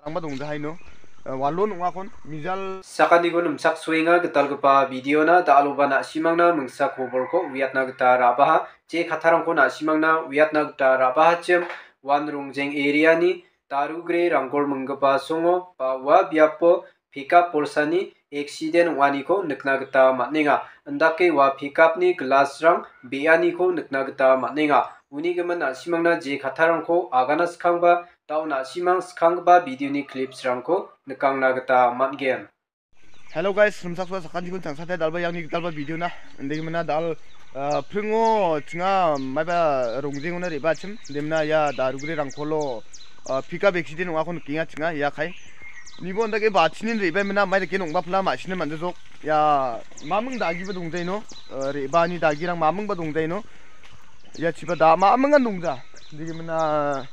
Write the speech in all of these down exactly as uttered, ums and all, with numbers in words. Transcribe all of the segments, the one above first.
Ong·a dongjahaino, eh, walon ong·akon mijal. Sakantikon nimchaksoenga gitalgipa videona, da·aloba na·simangna mingsa kobolko uiatna gita ra·baha. Je kattarangko na·simangna uiatna gita ra·bahachim, Wan Rongjeng areani Darugre Ranggol minggipa songo ba ua biapo pickup bolsani accident ong·aniko nikna gita man·enga. Indake ua pickupni glassrang be·aniko nikna gita man·enga. Uni gimin na·simangna je kattarangko agana skangba, da·o na·simang skanggipa videoni clipsrangko nikangna gita man·gen. Hello guys, rimchaksoa sakantikon changsate dalba iangni gitalba videona. Indegimina dal, ah, pringo chinga maiba Rongjengona re·bachim. Indemina ia Darugre Rangkolo, ah, pickup accident ong·ako nikenga chinga ia kai. Nibo indake bachinin re·baimina mai dake nong·bapla ma·sina man·jajok. Ia maming dagiba dongjaino, ah, re·baani dagirang mamingba dongjaino. Ia chiba da ma·mingan dongja. Indegimina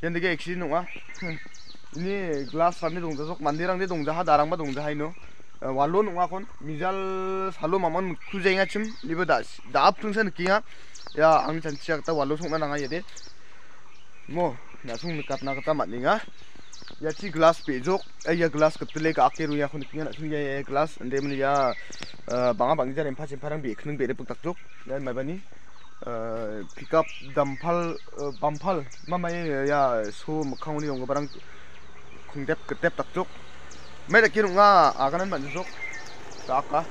ian dake accident ong·a. Ini glass rangde dongjajok, manderangde dongjaha, darangba dongjaha ino. Eh, walo nong·akon, mijal salo mamon mikku jaengachim, iba da, da·ap tungsa nikenga. Ia, angni chanchia gita walo song·na nanga iade. Mo, na·song nikatna gita man·enga. Ia chi glass be·jok, eh, ia glass gitile ga·ake roengako nikenga, na·song ia, ia glass, inde mani ia, eh, bang·a bang·gija rempa chemparang be·kning be·ripik dakjok. Ia maibani, eh, pickup dampal, eh, bampal, mamai, eh, ia so mikkangoni donggiparang kongdep gitep dakjok. Mai dake rong·a, aganan man·jajok. Daka.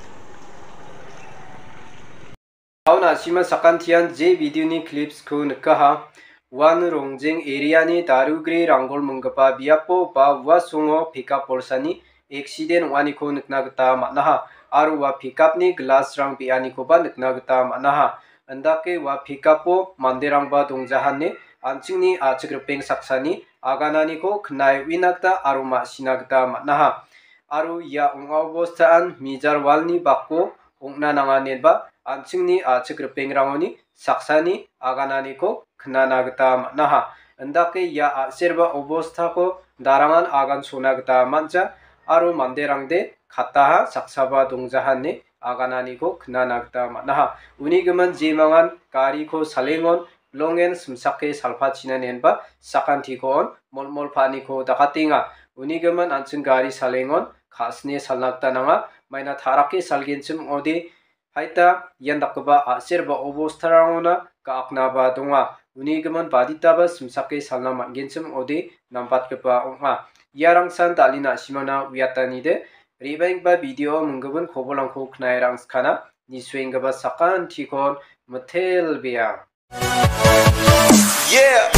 Aun asima sakantian je videoni clipsko nikaha. Wan Rongjeng areani Darugre Ranggol minggipa biapo ba ua songo pickup bolsani accident ong·aniko nikna gita man·aha. Aro ua pickupni glassrang be·anikoba nikna gita man·aha. Indake ua pickupo manderangba dongjahane an·chingni a·chik ripeng saksani agananiko knae uina gita aro ma·sina gita man·aha. Aro ia ong·a obostaan mijar walni bako ong·na nanganeba an·chingni a·chik ripengrangoni saksani agananiko knana gita man·aha. Indake ia a·serba obostako darangan agan sona gita man·ja aro manderangde kataha saksaba dongjahane agananiko knana gita man·aha. Uni gimin jemangan gariko salengon longen simsake salpachina nenba sakantiko on molmol pa·aniko dakatenga. Uni gimin an·ching gari salengon ka·sine salna gita nanga. Maina tarake salgenchim ong·ode, haita ian dakgipa a·serba obostarangona ga·aknaba donga. Uni gimin baditaba simsake salna man·genchim ong·ode nambatgipa ong·a. Iarangsan dalina a·simangna uiatanide, re·baenggipa video minggipin kobolrangko knae rangskana, nisuenggipa sakantikon mitelbea. Yeah.